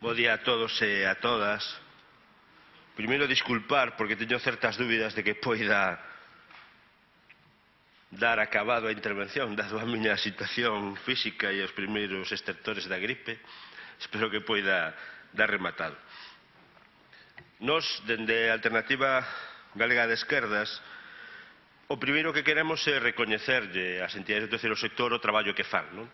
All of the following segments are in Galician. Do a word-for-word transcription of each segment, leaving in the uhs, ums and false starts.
Bo día a todos e a todas. Primeiro, disculpar porque teño certas dúbidas de que poida dar acabado a intervención, dado a miña situación física e os primeiros estertores da gripe. Espero que poida dar rematado. Nos, dende a Alternativa Galega de Esquerdas, o primeiro que queremos é recoñecerlle ás entidades do terceiro sector o traballo que fan, non?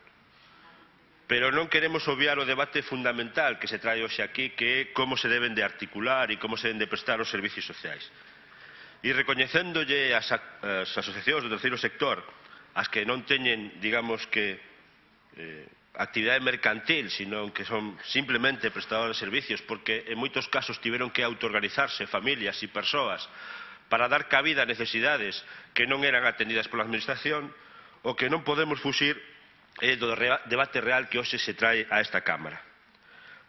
Pero non queremos obviar o debate fundamental que se trae hoxe aquí, que é como se deben de articular e como se deben de prestar os servicios sociais. E recoñecéndolle as, as asociacións do terceiro sector, as que non teñen, digamos que, eh, actividade mercantil, sino que son simplemente prestadores de servicios, porque en moitos casos tiveron que autoorganizarse familias e persoas para dar cabida a necesidades que non eran atendidas pola administración, o que non podemos fuxir é do debate real que hoxe se trae a esta Cámara.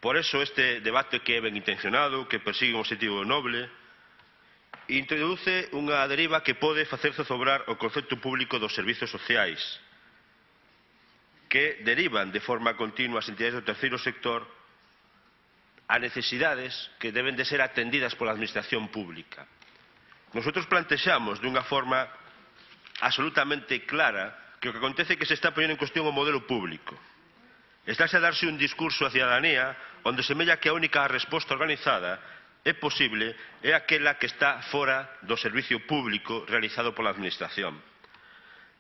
Por eso este debate, que é ben intencionado, que persigue un objetivo noble, introduce unha deriva que pode facer zozobrar o concepto público dos servizos sociais, que derivan de forma continua as entidades do terceiro sector a necesidades que deben de ser atendidas pola administración pública. Nosotros plantexamos dunha forma absolutamente clara que o que acontece é que se está poñendo en cuestión o modelo público. Estáse a darse un discurso á cidadanía onde semella que a única resposta organizada é posible é aquela que está fora do servicio público realizado pola administración.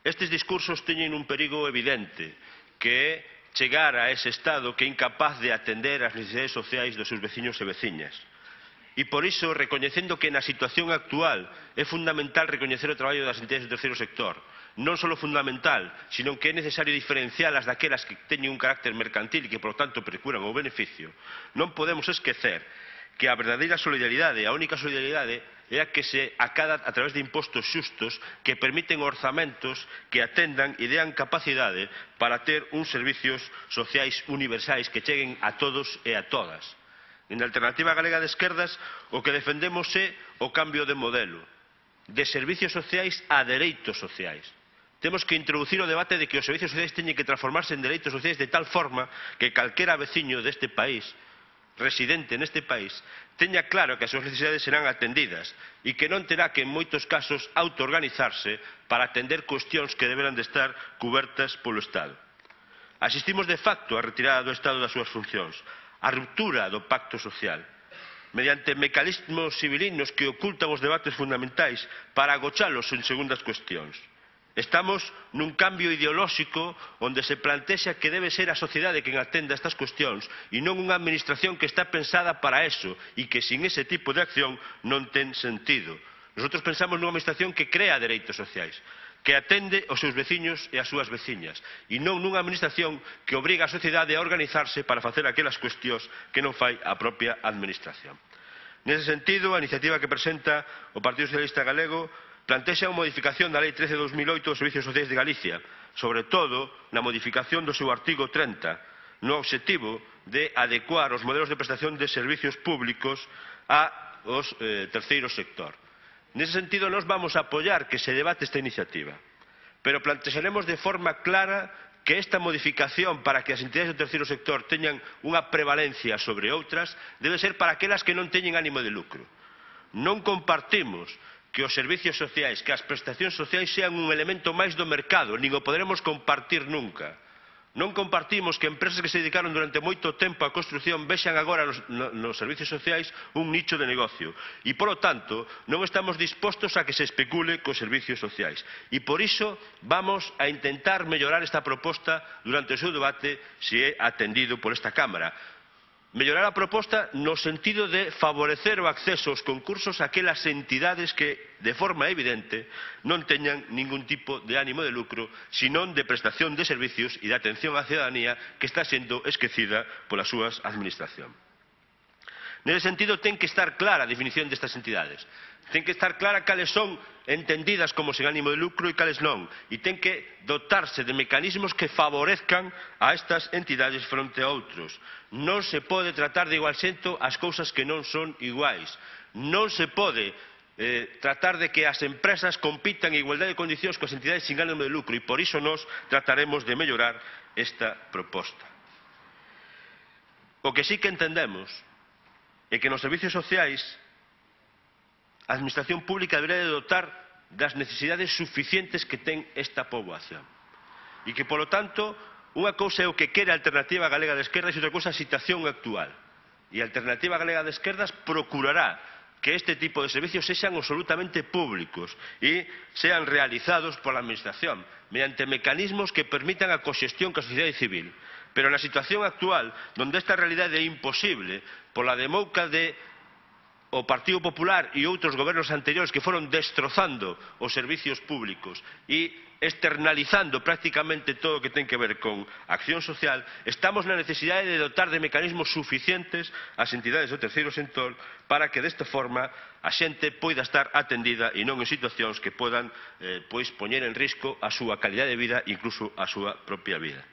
Estes discursos teñen un perigo evidente, que é chegar a ese estado que é incapaz de atender as necesidades sociais dos seus veciños e veciñas. E por iso, recoñecendo que na situación actual é fundamental recoñecer o traballo das entidades do terceiro sector, non só fundamental, sino que é necesario diferencialas daquelas que teñen un carácter mercantil e que, por tanto, procuran o beneficio, non podemos esquecer que a verdadeira solidaridade, a única solidaridade, é a que se acada a través de impostos xustos que permiten orzamentos que atendan e dean capacidade para ter uns servicios sociais universais que cheguen a todos e a todas. En a Alternativa Galega de Esquerdas, o que defendemos é o cambio de modelo, de servicios sociais a dereitos sociais. Temos que introducir o debate de que os servicios sociais teñen que transformarse en dereitos sociais de tal forma que calquera veciño deste país, residente neste país, teña claro que as súas necesidades serán atendidas e que non terá que, en moitos casos, autoorganizarse para atender cuestións que deberán de estar cubertas polo Estado. Asistimos de facto á retirada do Estado das súas funcións, á ruptura do pacto social, mediante mecanismos civilinos que ocultan os debates fundamentais para agochalos en segundas cuestións. Estamos nun cambio ideolóxico onde se plantexa que debe ser a sociedade quen atenda estas cuestións e non unha administración que está pensada para eso e que sin ese tipo de acción non ten sentido. Nosotros pensamos nunha administración que crea dereitos sociais, que atende aos seus veciños e as súas veciñas, e non nunha administración que obriga a sociedade a organizarse para facer aquelas cuestións que non fai a propia administración. Nese sentido, a iniciativa que presenta o Partido Socialista Galego plantexa unha modificación da Lei trece barra dos mil oito dos Servicios Sociais de Galicia, sobre todo na modificación do seu artigo trinta, no obxectivo de adecuar os modelos de prestación de servicios públicos aos eh, terceiro sector. Nese sentido, nós vamos a apoiar que se debate esta iniciativa, pero plantexaremos de forma clara que esta modificación para que as entidades do terceiro sector teñan unha prevalencia sobre outras debe ser para aquelas que non teñen ánimo de lucro. Non compartimos que os servicios sociais, que as prestacións sociais sean un elemento máis do mercado, nin o poderemos compartir nunca. Non compartimos que empresas que se dedicaron durante moito tempo á construción vexan agora nos, nos servicios sociais un nicho de negocio. E, polo tanto, non estamos dispostos a que se especule cos servicios sociais. E, por iso, vamos a intentar mellorar esta proposta durante o seu debate se é atendido por esta Cámara. Mellorar a proposta no sentido de favorecer o acceso aos concursos a aquelas entidades que, de forma evidente, non teñan ningún tipo de ánimo de lucro, senón de prestación de servicios e de atención á cidadanía que está sendo esquecida polas súas administracións. Nese sentido, ten que estar clara a definición destas entidades. Ten que estar clara cales son entendidas como sen ánimo de lucro e cales non. E ten que dotarse de mecanismos que favorezcan a estas entidades fronte a outros. Non se pode tratar de igual xeito as cousas que non son iguais. Non se pode eh, tratar de que as empresas compitan en igualdade de condicións coas entidades sin ánimo de lucro, e por iso nós trataremos de mellorar esta proposta. O que sí que entendemos é que nos servicios sociais a administración pública debería de dotar das necesidades suficientes que ten esta poboación. E que, polo tanto, unha cousa é o que quere a Alternativa Galega de Esquerdas e outra cousa a situación actual. E a Alternativa Galega de Esquerdas procurará que este tipo de servicios sexan absolutamente públicos e sean realizados pola Administración mediante mecanismos que permitan a coxestión coa sociedade civil. Pero na situación actual, onde esta realidade é imposible pola demouca de o Partido Popular e outros gobernos anteriores que foron destrozando os servicios públicos e externalizando prácticamente todo o que ten que ver con acción social, estamos na necesidade de dotar de mecanismos suficientes as entidades do terceiro sector para que desta forma a xente poida estar atendida e non en situacións que podan eh, pois poñer en risco a súa calidade de vida e incluso a súa propia vida.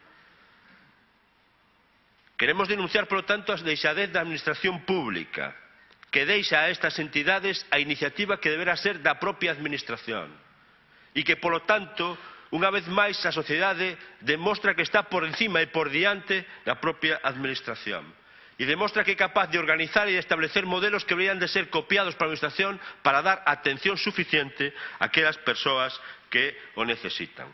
Queremos denunciar, polo tanto, a deixadez da administración pública, que deixa a estas entidades a iniciativa que deberá ser da propia Administración e que, polo tanto, unha vez máis a sociedade demostra que está por encima e por diante da propia Administración e demostra que é capaz de organizar e de establecer modelos que deberían de ser copiados pola Administración para dar atención suficiente a aquelas persoas que o necesitan.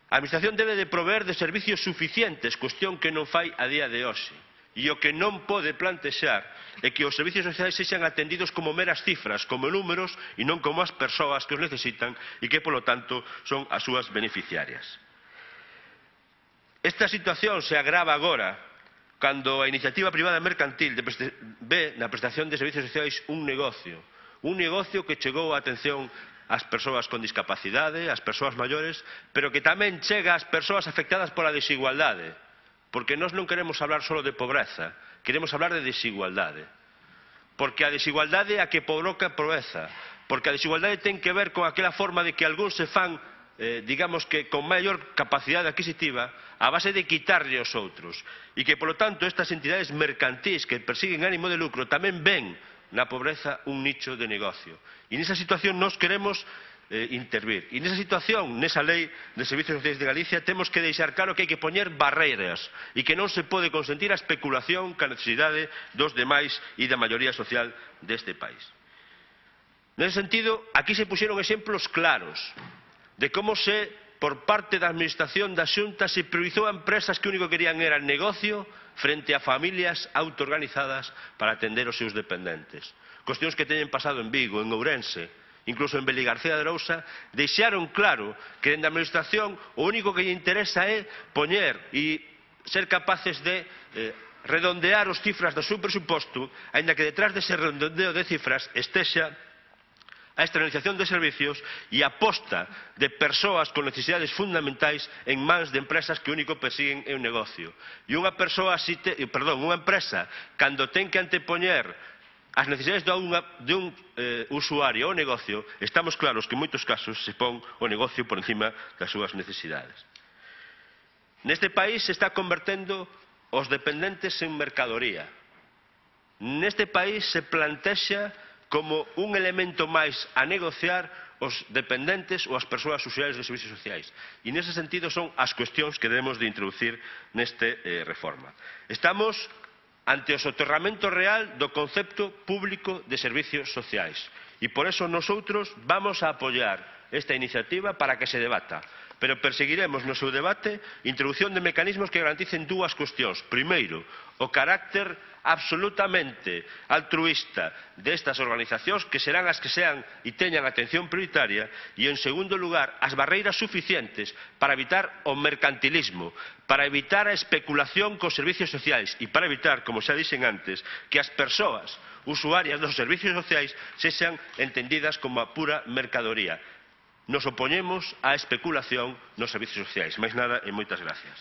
A Administración debe de proveer de servicios suficientes, cuestión que non fai a día de hoxe. E o que non pode plantexar é que os servicios sociais sexan atendidos como meras cifras, como números, e non como as persoas que os necesitan e que, polo tanto, son as súas beneficiarias. Esta situación se agrava agora cando a iniciativa privada mercantil ve na prestación de servicios sociais un negocio, un negocio que chegou a atención ás persoas con discapacidade, ás persoas maiores, pero que tamén chega ás persoas afectadas pola desigualdade. Porque nós non queremos hablar só de pobreza, queremos hablar de desigualdade. Porque a desigualdade é a que provoca a pobreza. Porque a desigualdade ten que ver con aquela forma de que algúns se fan, eh, digamos que con maior capacidade adquisitiva, a base de quitarlle aos outros. E que, polo tanto, estas entidades mercantís que persiguen ánimo de lucro tamén ven na pobreza un nicho de negocio. E nesa situación nós queremos Eh, intervir. E nesa situación, nesa lei de servicios sociais de Galicia, temos que deixar claro que hai que poñer barreiras e que non se pode consentir a especulación ca necesidade dos demais e da maioría social deste país. Nese sentido, aquí se puxeron exemplos claros de como se, por parte da Administración da Xunta, se priorizou a empresas que o único que querían era negocio frente a familias autoorganizadas para atender os seus dependentes. Cuestións que teñen pasado en Vigo, en Ourense, incluso en Beligarcía de Arousa, deixaron claro que dende a Administración o único que lle interesa é poñer e ser capaces de eh, redondear os cifras do seu presuposto, aínda que detrás dese redondeo de cifras estexa a externalización de servicios e a posta de persoas con necesidades fundamentais en mans de empresas que o único persiguen é un negocio. E unha persoa, perdón, unha empresa, cando ten que antepoñer as necesidades de, unha, de un eh, usuario ou negocio, estamos claros que en moitos casos se pon o negocio por encima das súas necesidades. Neste país se está convertendo os dependentes en mercadoría. Neste país se plantexa como un elemento máis a negociar os dependentes ou as persoas usuarias de servicios sociais. E nese sentido son as cuestións que debemos de introducir neste eh, reforma. Estamos ante o soterramento real do concepto público de servicios sociais. E por eso nosotros vamos a apoiar esta iniciativa para que se debata. Pero perseguiremos no seu debate introdución de mecanismos que garanticen dúas cuestións. Primeiro, o carácter absolutamente altruísta destas organizacións, que serán as que sean e teñan atención prioritaria, e, en segundo lugar, as barreiras suficientes para evitar o mercantilismo, para evitar a especulación cos servicios sociais e para evitar, como xa dixen antes, que as persoas usuarias dos servicios sociais sexan entendidas como a pura mercadoría. Nos opoñemos á especulación nos servicios sociais. Máis nada e moitas gracias.